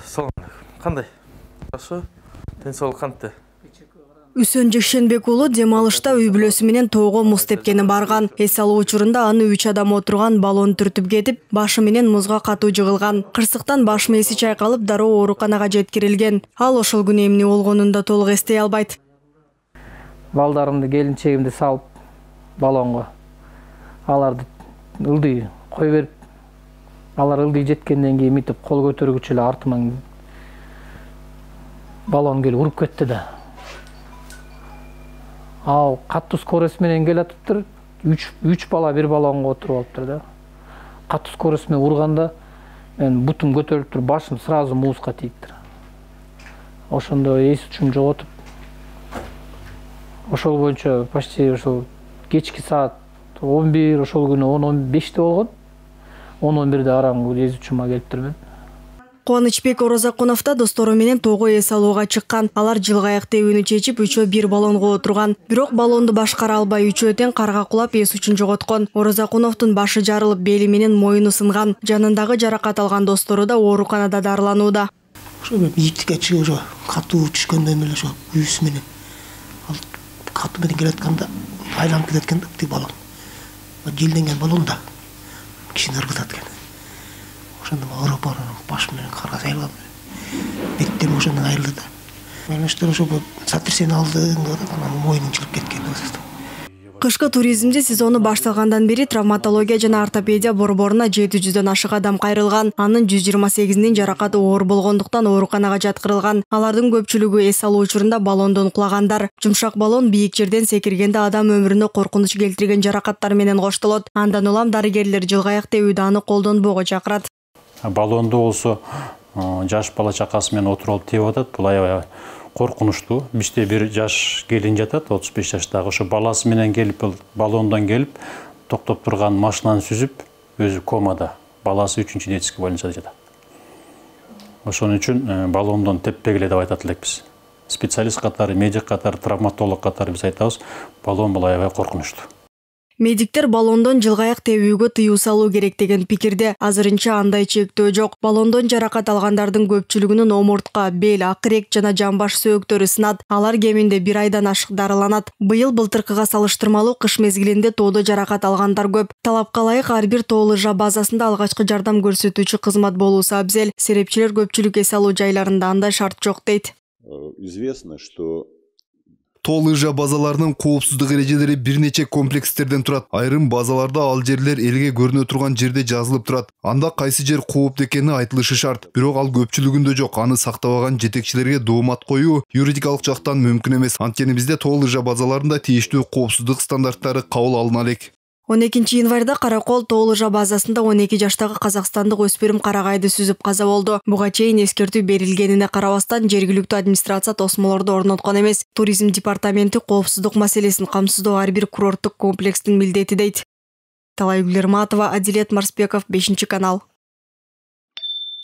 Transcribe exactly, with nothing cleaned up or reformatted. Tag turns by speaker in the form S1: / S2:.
S1: Салам. Кандай? Жакшы? Ден соолук кантты?
S2: Үсөн Жекшенбек уулу дем алышта үй бүлөсү менен тоого муз тепкени барган. Эс алуу учурунда аны үч адам отурган баллон түртүп кетип, башы менен музга катуу жыгылган. Кырсыктан баш мээси чайкалып, дароо ооруканага жеткирилген. Ал ошол күнү эмне болгонун да толук эстей албайт.
S3: Балдарымды, келинчегимди салып баллонго. Аларды ылдый кой берип, алар ылдый жеткенден кийин митип кол көтөргүч эле артыман баллон келип уруп кетти да. Ал каттуу скорость менен келатыптыр. үч бала бир баллонго отуруп алыптыр да. Каттуу скорость менен урганда мен бутум көтөрүлүп туруп, башым сразу музга тийиптир. Ошондо эс учум жоготуп, ошол боюнча почти ошол кечки саат он бир, ошол күнү он он беште болгон. он он бирде араңгы эс учума келиптир мен.
S2: Кубанычбек Орозакунов да достору менен тоого эс алууга чыккан. Алар жылгаяк тебүүнү чечип, үчөө бир баллонго отурган. Бирок баллонду башкара албай үчөө тең карга кулап эс учун жоготкон. Орозакуновдун башы жарылып, бели менен мойну сынган. Жанындагы жаракат алган достору да ооруканада дарыланууда.
S4: Ошо бийиктикке чыгып ошо катуу түшкөндөн эле ошо үйүс менен ал катуу менен келатканда айланып кеткен да тиги баллон. Желденген баллон да кишини ыргытат экен. Ошондо ооруп барып, баш менен карга сайылган. Беттем ошондон айрылды да. Менештер ошо сотрясение алды, анан мойнун чыгып кеткен.
S2: Кышкы туризмде сезону башталгандан бери травматология жана ортопедия борборуна жети жүздөн ашык адам кайрылган. Анын жүз жыйырма сегизинин жаракаты оор болгондуктан ооруканага жаткырылган. Алардын көпчүлүгү эс алуу учурунда баллондон кулагандар. Жумшак баллон бийик жерден секиргенде адам өмүрүнө коркунуч келтирген жаракаттар менен коштолот. Андан улам дарыгерлер жылгаяк тебүүдө аны колдонбоого чакырат.
S5: Баллонду болсо жаш бала чакасы менен отуруп алып тебип атат. Бул аябай коркунучтуу. Бизде бир жаш келин жатат, отуз беш жаштагы. Ошо баласы менен келип, баллондон келип, токтоп турган машинаны сүзүп, өзү комада. Баласы үчүнчү детский больницада жатат. Ошон үчүн баллондон теппегиле деп айтат элекпиз. Специалист катары, медик катары, травматолог катары биз айтабыз, баллон бул аябай коркунучтуу.
S2: Медиктер баллондон жылгаяк тебүүгө тыюу салуу керек деген пикирде. Азырынча андай чектөө жок. Баллондон жаракат алгандардын көпчүлүгүнүн омуртка, бел, акырек жана жамбаш сөөктөрү сынат. Алар кеминде бир айдан ашык дарыланат. Быйыл былтыркыга салыштырмалуу кыш мезгилинде тоодо жаракат алгандар көп. Талапка ылайык ар бир тоо лыжа базасында алгачкы жардам көрсөтүүчү кызмат болуусу абзел. Серепчилер көпчүлүк эс алуу жайларында андай шарт жок дейт.
S6: Известно, что
S7: тоо лыжа базаларынын коопсуздук эрежелери бир нече комплекстерден турат. Айрым базаларда ал жерлер элге көрүнө турган жерде жазылып турат. Анда кайсы жер кооптуу экени айтылышы шарт. Бирок ал көпчүлүгүндө жок. Аны сактабаган жетекчилерге доомат коюу юридикалык жактан мүмкүн эмес. Анткени бизде тоо лыжа базаларында тийиштүү коопсуздук стандарттары кабыл алына элек.
S2: он экинчи январда Каракол тоо лыжа базасында он эки жаштагы казакстандык өспүрүм карагайды сүзүп каза болду. Буга чейин эскертүү берилгенине карабастан жергиликтүү администрация тосмолорду орноткон эмес. Туризм департаменти коопсуздук маселесин камсыздоо ар бир курорттук комплекстин милдети дейт. Талайгүл Эрматова, Адилет Марсбеков, бешинчи канал.